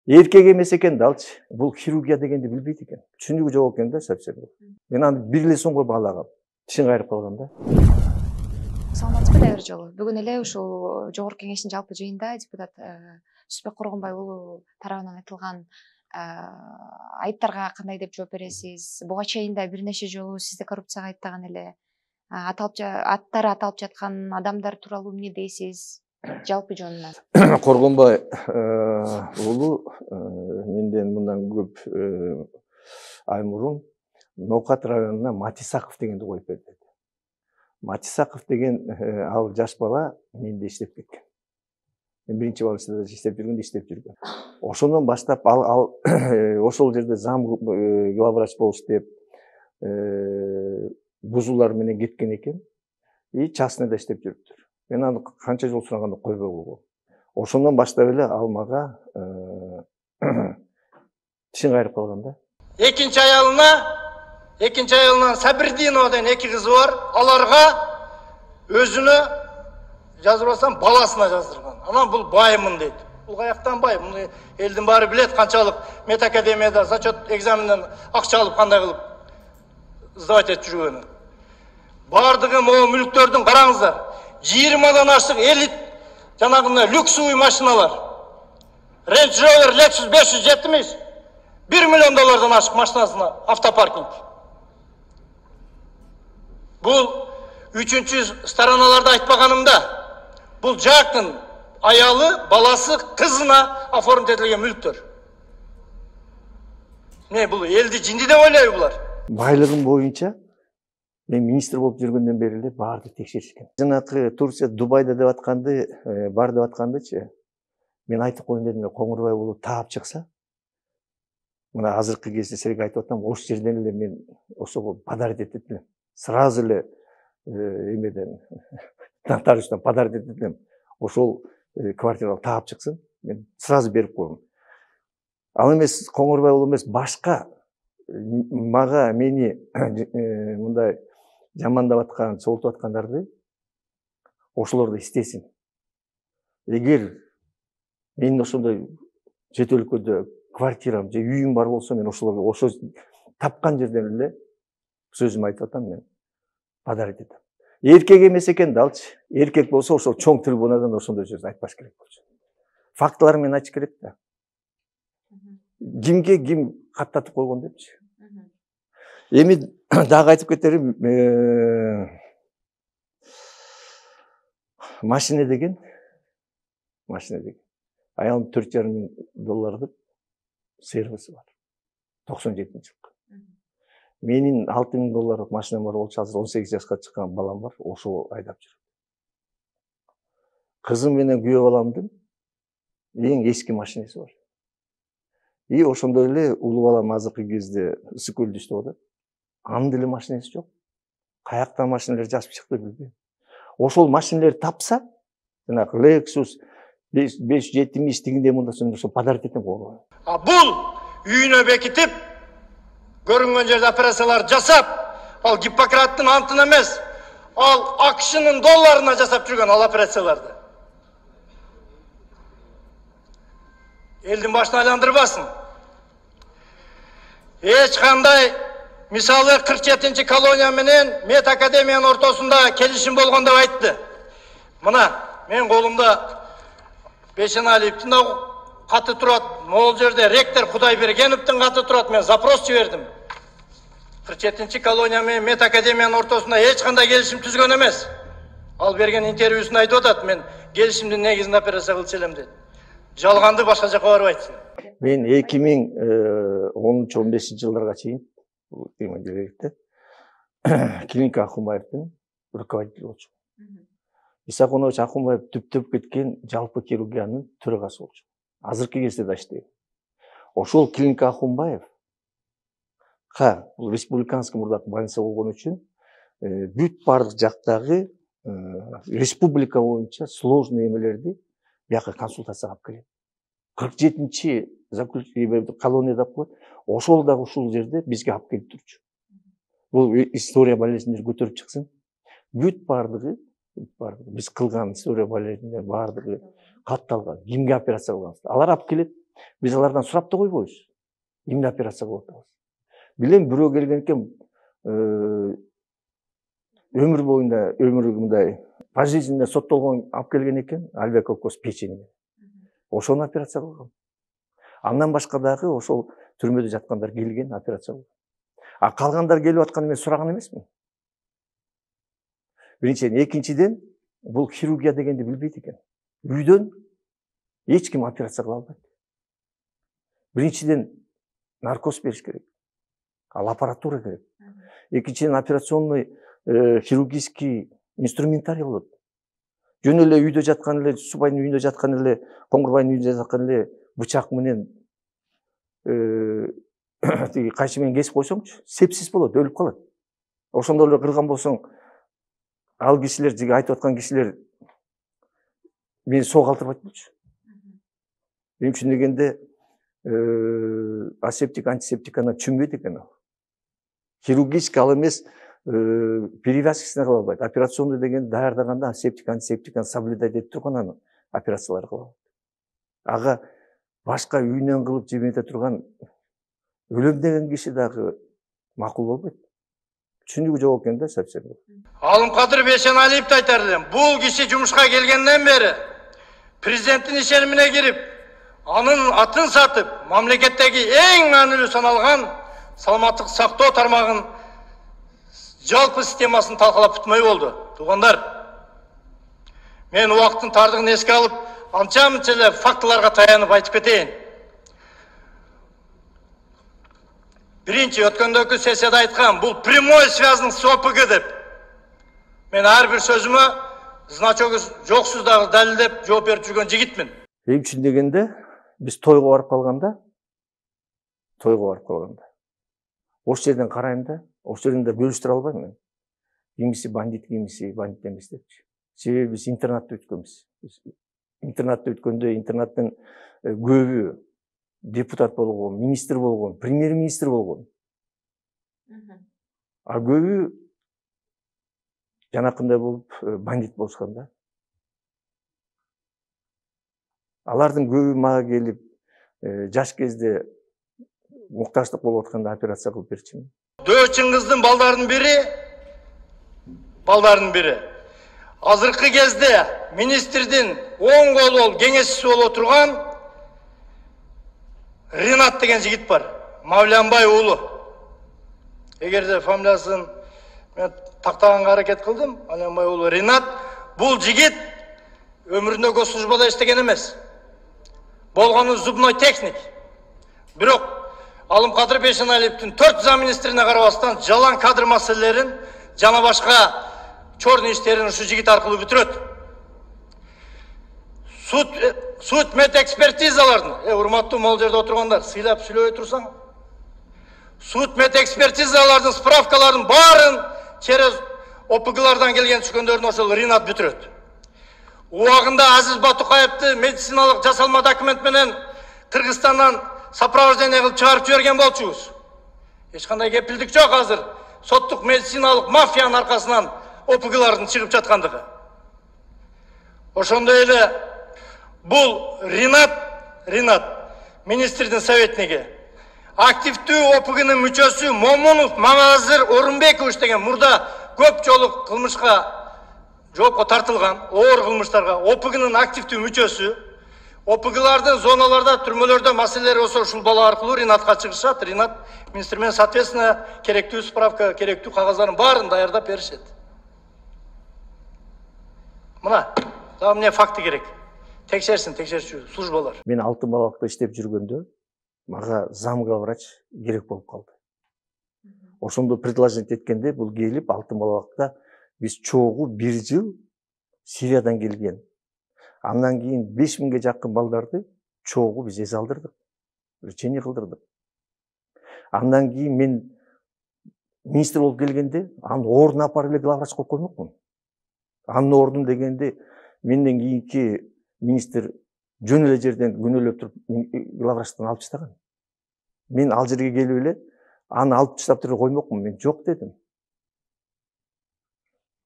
Эркек эмес экен да алчы. Бул хирургия дегенди билбейт экен. Түшүнүгү жок экен да совсем. Мен аны бир эле сомго баалагам. Тишин кайрып калган да. Саламатсызбы дагы бир жолу. Бүгүн эле ушул Жогорку Кеңештин жалпы жыйынында депутат Түсүнбек Коргонбай уулу тарабынан айтылган айыптарга кандай деп жооп бересиз? Буга чейин да бир нече жолу сизди коррупцияга айыптаган эле. Аттары аталып жаткан адамдар тууралуу эмне дейсиз? Жалпы жөнүнөн. Коргонбай уулу менден мындан көп ай мурун Ноокат районуна Матисаков дегенди коюп берди. Матисаков деген ал жаш бала менде иштеп кеткен. Мен биринчи больницада иштеп жүргөндө иштеп жүргөн. Ошондон баштап ал ошол жерде зам главврач болуп иштеп бузуулар менен кеткен экен. И частныйда иштеп жүрүптүр. Мен аны канча жол сураганда койбой койгом. Ошондон баштап эле ал мага тишин кайрып калган да. Экинчи аялынан Сабирдинова деген 2 кызы бар. Аларга өзүнө жазбасам баласына жаздырган. Анан бул байымын дейт. Бул каяктан бай? Муну элдин баары билет канчалык медакадемияда зачет экзаменинен акча алып кандай кылып сдавать этип жүргөнүн. Бардыгы могу мүлктөрдүн караңыздар. 20дан ашык элит жанагындай люксовый машиналар. Range Rover Lexus 570 $1 миллион ашык машинасына автопаркинг. Бул үчүнчү стороналарда айтпаганымда, бул жактын аялы, баласы, кызына оформить этилген мүлктөр. Не бул элди жинди деп ойлойбу булар? Байлыгым боюнча мен министр болуп жүргөндөн бери эле баарды текшеришкен. Жанакы Турция Дубайда деп атканды, бар деп аткандычы. Мен айтып коеюн дедим, Коңурбай уулу таап чыкса, мына азыркы кезде силерге айтып атам, ошол жерден эле мен ошого подарить этет элем. Сразу эле эмеден нотариустан подарить этет элем. Ошол квартираны таап чыксын, мен сразу берип коем. Ал эмес Коңурбай уулу эмес, башка мага мени мындай жамандап аткан, чогултуп аткандарды ошолорду истесин. Эгер менин ошондой чет өлкөдө квартирам же үйүм бар болсо, мен ошолорго ошо тапкан жерден эле сөзүмдү айтып атам, мен подарить этем. Эркек эмес экен да алчы. Эркек болсо ошол чоң трибунадан ошондой сөз айтпаш керек болчу. Фактылар менен айтыш керек да. Кимге ким каттатып койгон депчи. Эми дагы айтып кетерим, машина деген аялым $4,5 сервиси бар. 97-жылкы. Менин $6,000 машинам бар болчу, азыр 18 жашка чыккан балам бар, ошол айдап жүрөт. Кызым менен күйөө баламдын эң эски машинеси бар. И ошондой эле улуу балам азыркы кезде ысык көлдө иштеп атат. Анын деле машинеси жок. Каяктан машиналар жазып чыкты билбейм. Ошол машиналарды тапса, жанагы Lexus 570 тигинде мында мен ошо подарить этем го. Бул үйүнө бекитип, көрүнгөн жерде операциялар жасап, ал Гиппократтын антын эмес, ал AQShnын долларына жасап жүргөн ал операцияларды. Элдин башына айландырбасын. Эч кандай, мисалы 47-чи колония менен медакадемиянын ортосунда келишим болгон деп айтты. Мына мен колумда Бешеналиевдин каты турат, могул жерде ректор Кудайбергеновдун каты турат, мен запрос жибердим. 47-чи колония менен медакадемиянын ортосунда эч кандай келишим түзгөн эмес. Ал берген интервьюсунда айтып атат, мен келишимдин негизинде операция кылчу элем дейт. Жалганды башка жака барбайт. Мен 2010-15 жылдарга чейин директор клиника Ахунбаевдин руководитель болчумун. Исаконович Ахунбаев түптөп кеткен жалпы хирургиянын төрагасы болчу. Азыркы кезде да иштейт. Ошол клиника Ахунбаев бул республиканский мурдак больница болгон үчүн бүт бардык жактагы республика боюнча сложный эмелерди бияка консультацияга алып келет. 47-чи колонияда коет. Ошол дагы ушул жерде бизге алып келип турчу. Бул история болезньдер көтөрүп чыксын. Бүт бардыгы биз кылган история болезньдер бардыгы катталган. Кимге операция кылганбыз? Алар алып келет. Биз алардан сурап да койбойбуз. Эмне операция кылып атабыз. Билем бирөө келген экен өмүр боюнда мындай пожизненно соттолгон алып келген экен, альвеолоз печени. Ошону операция кылган. Андан башка дагы ошол түрмөдө жаткандар келген, операция кылган. А калгандар келип атканын мен сураган эмесмин. Биринчиден, экинчиден, бул хирургия дегенди билбейт экен. Үйдөн эч ким операция кыла албайт. Биринчиден наркоз бериш керек. Ал аппаратура керек. Экинчиден операционный хирургический инструментарий болот. Жөн эле үйдө жаткан эле, Субайдын үйүндө жаткан эле, Коңгурбайдын үйүндө жаткан эле бычак менен тиги кайчы менен кесип койсоңчу, сепсис болот, өлүп калат. Ошондо эле кырган болсоң, ал кишилер, жиги айтып аткан кишилер мени соо калтырбайт болчу. Мен үчүн дегенде асептик, антисептик анан түшүнбөйт экен ал. Хирургический ал эмес, перевязкасына кыла албайт. Операционный деген даярдаганда асептик, антисептик соблюдать этип турган анын операциялары кыла алат. Ага башка үйүнөн кылып жемете турган өлөм деген киши дагы макул болбойт. Түшүнүгү жок экен да совсем. Алымкадыр Бейшеналиевди айтар элем. Бул киши жумушка келгенден бери президенттин ишенимине кирип, анын атын сатып, мамлекеттеги эң маанилүү саналган саламаттык сактоо тармагын жалпы системасын талкалап бүтмөй болду. Туугандар, мен убакыттын тардыгын эске алып, анча-мынча эле фактыларга таянып айтып кетейин. Биринчи, өткөндөгү сессияда айткан, бул прямой связан с ОПГ деп. Мен ар бир сөзүмө значогу жоксуз дагы далилдеп жооп берип жүргөн жигитмин. Эң үчүн дегенде, биз тойго барып калганда, ош жерден карайм да, ош жерден да бөлүштүрө албайм мен. Кимиси бандит, кимиси бандит эмес депчи. Себеби биз интернатта өткөнбүз. Интернатта өткөндө интернаттын көбү депутат болгон, министр болгон, премьер-министр болгон. А көбү жанакындай болуп бандит болушкан да. Алардын көбү мага келип, жаш кезде муктаждык болуп атканда операция кылып берчүмүн. Дөчүңүздүн балдардын бири. Азыркы кезде министрдин оң колу кеңешчиси болуп турган Ринат деген жигит бар. Мавлянбай уулу. Эгерде фамилиясын мен тактаганга аракет кылдым, Мавлянбай уулу Ринат, бул жигит өмүрүндө госслужбада иштеген эмес. Болгону зубной техник. Бирок Алымкадыр Бейшеналиевдин 4 замминистрине карабастан жалаң кадр маселелерин жана башка чорный иштерин ушу жигит аркылуу бүтүрөт. Суд медэкспертизалардын, урматтуу могул жерде отургандар, сыйлап сүйлөбөй турсаң. Суд медэкспертизалардын справкаларын баарын через ОПГлардан келген түшкөндөрүн ошол Ринат бүтүрөт. Убагында Азиз Батукаевди медициналык жасалма документ менен Кыргызстандан сопровождение кылып чыгарып жиберген болчубуз. Эч кандай кепилдик жок азыр. Соттук медициналык мафиянын аркасынан ОПГлардын чыгып жаткандыгы. Ошондой эле бул Ринат министрдин советниги. Активдүү ОПГнын мүчөсү Момунов Мамазыр Орунбекович деген мурда көп жолу кылмышка жоопко тартылган, оор кылмыштарга ОПГнын активдүү мүчөсү. ОПГлардын зоналарда, түрмөлөрдө маселелери болсо ушул бала аркылуу Ринатка чыгышат. Ринат министр менен соответственно керектүү справка, керектүү кагаздардын баарын даярдап беришет. Мына, дагы эмне факты керек. Текшерсин, текшерчү службалар. Мен Алтын балалыкта иштеп жүргөндө мага замглавврач керек болуп калды. Ошондо предложение эткенде бул келип Алтын балалыкта биз чогуу 1 жыл Сириядан келген. Андан кийин 5000ге жакын балдарды чогуу биз эз алдырдык. Лечение кылдырдык. Андан кийин мен министр болуп келгенде анын ордуна апарып эле главврач коюп коймокмун. Анын ордун дегенде менден кийинки министр жөн эле жерден күнөөлөп туруп главврачтан алып таштаган. Мен ал жерге келип эле аны алып таштап туруп коймокмун. Мен жок дедим.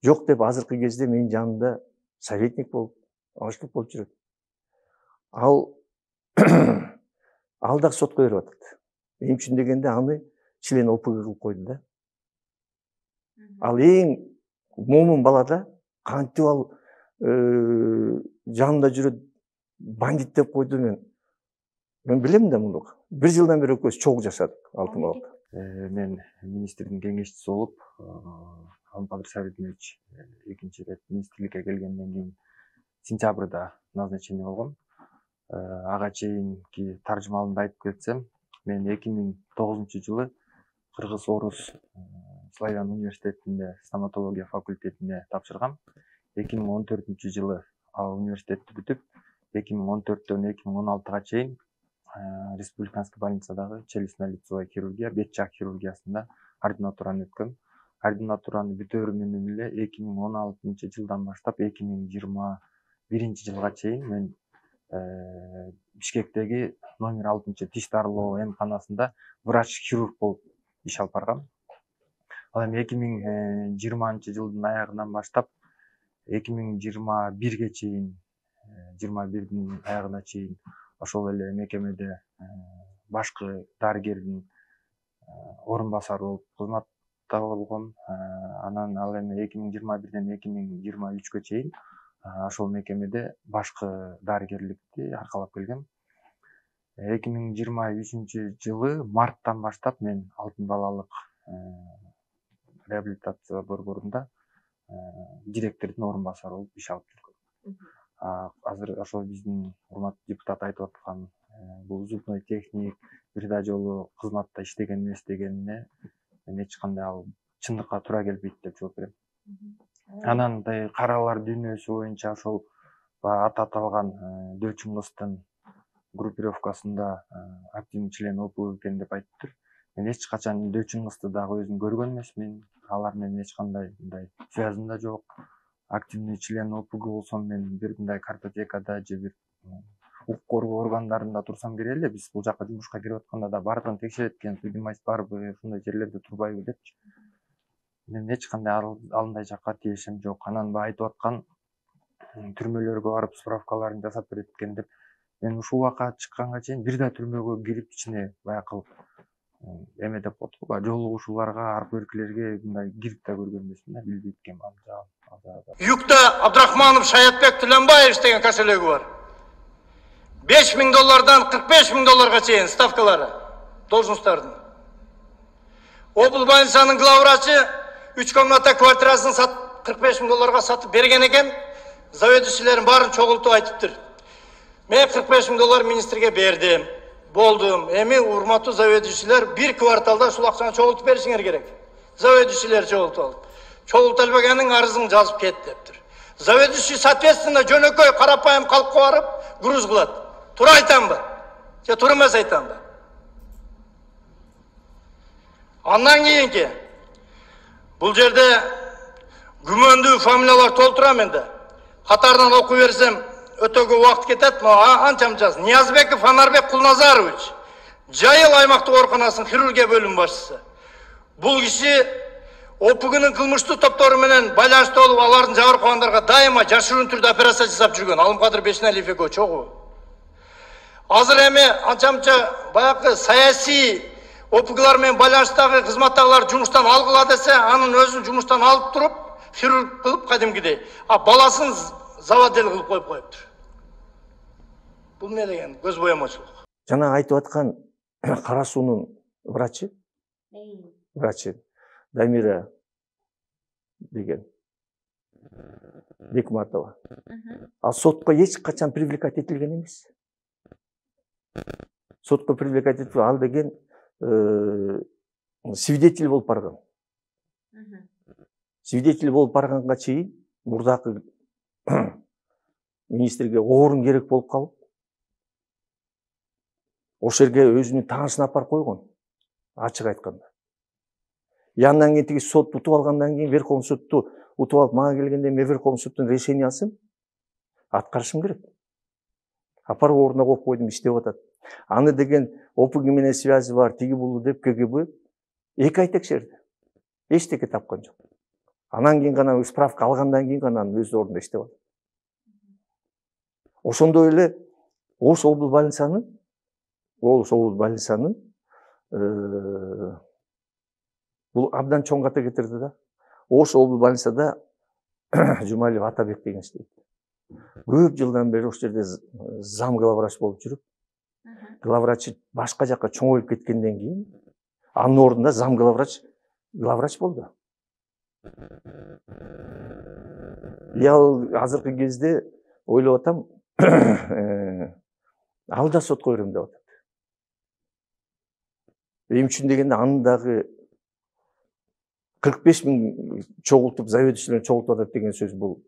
Жок деп азыркы кезде менин жанымда советник болуп, аштык болуп жүрөт. Ал Ал дагы сотко берип атат. Эмне үчүн дегенде аны член ОПГ кылып койду да. Ал эң момун бала да кантип ал жанында жүрөт бандит деп койду мен билем да муну. 1 жылдан бери экөөбүз чогуу жашадык Алтын балыкта. Мен министрдин кеңешчиси болуп, Алмыкадыр Сабитович экинчи ирет министрликке келгенден кийин сентябрда назначение болгом. Ага чейинки таржымалымды айтып кетсем, мен 2009-жылы Кыргыз-Орус Славян университетинде стоматология факультетине тапшыргам. 2014-жылы ал университетти бүтүп, 2014-төн 2016-га чейин республиканский больницадагы челюстно-лицевая хирургия, бет жак хирургиясында ординатураны өткөм. Ординатураны бүтөөрү менен эле 2016-жылдан баштап 2021-жылга чейин мен Бишкектеги номер 6 тиш дарылоо эмканасында врач-хирург болуп иш алып баргам. Ал эми 2020-жылдын аягынан баштап 2021-ге чейин, 21-дин аягына чейин ошол эле мекемеде башкы дарыгердин орун басары болуп кызматта болгом. Анан ал эми 2021-ден 2023-гө чейин ошол мекемеде башкы дарыгерликти аркалап келгем. 2023-жылы марттан баштап мен Алтын балалык реабилитация борборунда директордун орун басары болуп иш алып жүргөм. Азыр ошол биздин урматтуу депутат айтып аткан бул зубной техник бир да жолу кызматта иштеген эмес дегенине мен эч кандай ал чындыкка туура келбейт деп жооп берем. Анан каралар дүйнөсү боюнча ошол аты аталган Дөчүн-Кыстын группировкасында активный член ОПГ экен деп айтыптыр. Мен эч качан Дөчүн-Кысты дагы өзүм көргөн эмесмин. Алар менен эч кандай мындай связым да жок. Активный член ОПГ болсом мен бир мындай картотекада же бир укук коргоо органдарында турсам керек эле. Биз бул жака жумушка кирип атканда да баардыгын текшерет экен, судимость барбы, ушундай жерлерде турбайбы депчи. Мен эч кандай алындай жакка тиешим жок. Анан айтып аткан түрмөлөргө барып справкаларын жасап берет экен деп. Мен ушул убакка чыкканга чейин бир да түрмөгө кирип ичине баягы эме деп коет, жолугушууларга, аркы беркилерге мындай кирип да көргөн эмесмин да, билбейт экенмин ал жагын. Юкта Абдрахманов Шаятбек Тиленбаев деген кошелеги бар. $5000 $45.000 чейин ставкалары должносттардын. Обл больницанын главврачы 3 комната квартирасын $45.000 сатып берген экен. Заведующийлердин баарын чогултуп айтыптыр. Мен $45.000 министрге бердим. Болдум. Эми урматтуу заведующийлер бир кварталда ушул акчаны чогултуп беришиңер керек. Заведующийлер чогултуп алып. Чогултулбаганын арызын жазып кет дептир. Заведующий соответственно жөнөкөй карапайым калкка барып груз кылат. Туура айтамбы? Же туура эмес айтамбы? Андан кийинки бул жерде күмөндүү фамилиялар толтурам энди. Катарынан окуп берсем өтө көп убакыт кетет. Анча-мынчасы. Ниязбеков Анарбек Кулназарович, Жайыл аймактык ооруканасынын хирургия бөлүмү башчысы. Бул киши ОПГнын кылмыштуу топтору менен байланыштуу болуп, алардын жабыркагандарга дайыма жашыруун түрдө операция жасап жүргөн. Алымкадыр Бешеналиев экөө чогуу. Азыр эми анча-мынча баягы саясий ОПГлар менен байланыштагы кызматтагылар жумуштан алгыла десе, анын өзүн жумуштан алып туруп, хирург кылып кадимкидей, баласын заводел кылып коюп коюптур. Бул эмне деген көз боямочулук. Жана айтып аткан Кара суунун врачы Дамира деген Бекматова. Ал сотко эч качан привлекать этилген эмес. Сотко привлекать этип ал деген свидетель болуп барган. Свидетель болуп барганга чейин мурдакы министрге орун керек болуп калып, ошол жерге өзүнүн таанышын алып барып койгон. Ачык айтканда. Андан кийин сот утуп алгандан кийин Верховный сутту утуп алып мага келгенде мен Верховный суттун решениясын аткарышым керек. Апарып ордуна коюп койдум, иштеп атат. Аны деген ОПГ менен связи бар, тиги бул деп КГБ 2 ай текшерди. Эчтеке тапкан жок. Анан кийин гана справка алгандан кийин гана өз ордунда иштеп атат. Ошондой эле Ош обл больницанын ошол больницанын бул абдан чоң ката кетирди да. Ошол больницада Жумалиев Атабек деген иштейт. Көп жылдан бери ошол жерде зам главврач болуп жүрүп, главврач башка жакка чоңоюп кеткенден кийин анын ордунда зам главврач болду. Ал азыркы кезде ойлоп атам, ал да сотко берем деп атат. Эмне үчүн дегенде анын дагы 45 000 чогултуп, заведующийлерин чогултуп атат деген сөз, бул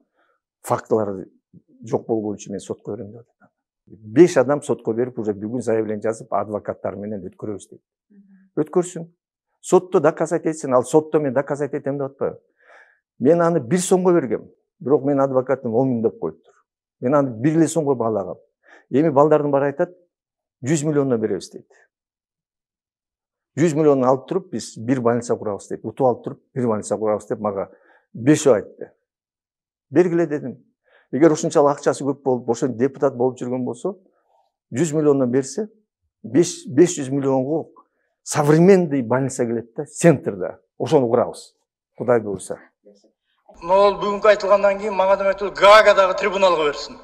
фактылар жок болгон үчүн мен сотко берем деп атат. 5 адам сотко берип, уже бүгүн заявление жазып, адвокаттар менен өткөрөбүз дейт. Өткөрсүн. Сотто доказать этсин, ал сотто мен доказать этем деп атпайбы. Мен аны 1 сомго бергем, бирок мен адвокатым 10 000 деп коюптур. Мен аны 1 сомго баалагам. Эми балдардын баары айтат, 100 миллиондон беребиз дейт. 100 миллион алып туруп, биз бир больница курабыз дейт. Утуп алып туруп, бир больница курабыз деп мага 5 айтты. Бергиле дедим. Эгер ушунчалык акчасы көп болуп, ошо депутат болуп жүргөн болсо, 100 миллиондон берсе, 500 миллионго современный больница келет да, центрда. Ошону курабыз. Кудай буйруса. Могул бүгүнкү айтылгандан кийин мага да Гаагадагы трибуналга берсин.